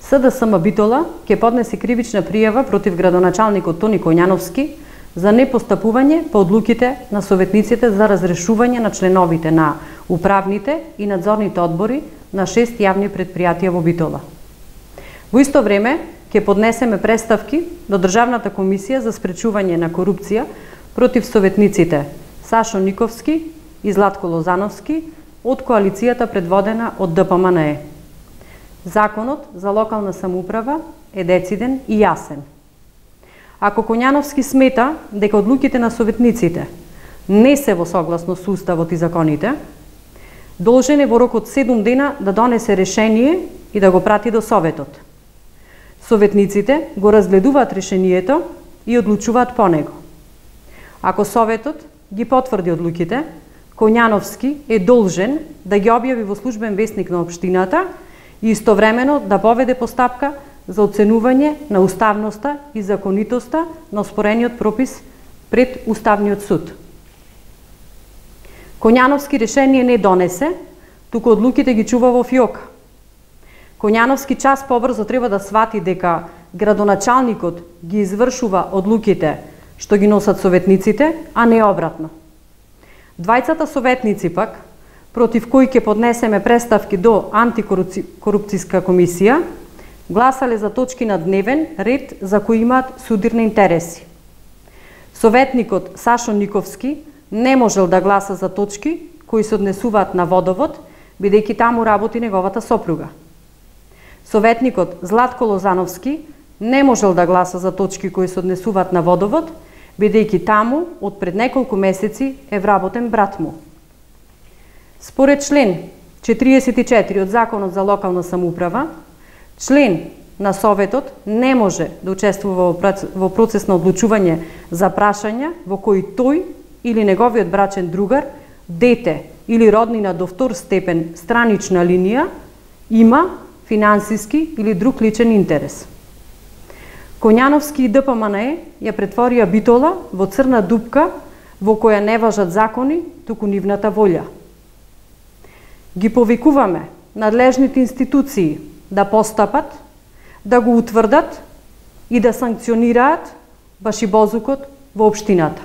СДСМ Битола ќе поднесе кривична пријава против градоначалникот Тони Коњановски за непостапување по одлуките на советниците за разрешување на членовите на управните и надзорните одбори на 6 јавни предпријатија во Битола. Во исто време ќе поднесеме преставки до Државната комисија за спречување на корупција против советниците Сашо Никовски и Златко Лозановски од коалицијата предводена од ДПМНЕ. Законот за локална самоуправа е дециден и јасен. Ако Коњановски смета дека одлуките на советниците не се во согласност со Уставот и законите, должен е во рок од 7 дена да донесе решение и да го прати до Советот. Советниците го разгледуваат решението и одлучуваат по него. Ако Советот ги потврди одлуките, Коњановски е должен да ги објави во службен весник на општината и истовремено да поведе постапка за оценување на уставноста и законитоста на оспорениот пропис пред Уставниот суд. Коњановски решение не донесе, туку одлуките ги чува во фиока. Коњановски час побрзо треба да свати дека градоначалникот ги извршува одлуките што ги носат советниците, а не обратно. Двајцата советници пак, против кои ќе поднесеме преставки до антикорупцијска комисија, гласале за точки на дневен ред за кои имаат судирни интереси. Советникот Сашо Никовски не можел да гласа за точки кои се однесуваат на водовод, бидејќи таму работи неговата сопруга. Советникот Златко Лозановски не можел да гласа за точки кои се однесуваат на водовод, бидејќи таму од пред неколку месеци е вработен брат му. Според член 44 од Законот за локална самоуправа, член на Советот не може да учествува во процес на одлучување за прашања во кои тој или неговиот брачен другар, дете или роднина до втор степен странична линија има финансиски или друг личен интерес. Коњановски и ДПМНЕ ја претворија Битола во црна дупка во која не важат закони, туку нивната волја. Ги повикуваме надлежните институции да постапат, да го утврдат и да санкционираат башибозукот во општината.